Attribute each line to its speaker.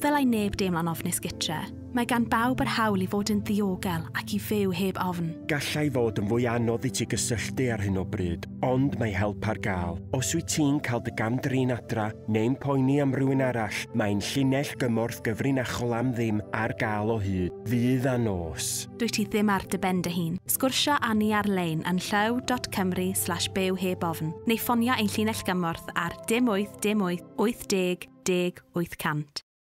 Speaker 1: Ddylai neb deimlo'n ofnus gytre. Mae gan bawb yr hawl i fod yn ddiogel ac i fyw heb ofn.
Speaker 2: Gallai fod yn fwy anodd i ti gysylltu ar hyn o bryd, ond mae help ar gael. Os wyt ti'n cael dy gam-drin adra neu'n poeni am rywun arall, mae'n llinell gymorth gyfrinachol am ddim ar gael o hyd, ddydd a nos.
Speaker 1: Dwyt ti ddim ar dy ben dy hun. Sgwrsio â ni ar-lein yn llyw.cymru/byw heb ofn, neu ffonio ein llinell gymorth ar 0 8 dim 8 80 10 800.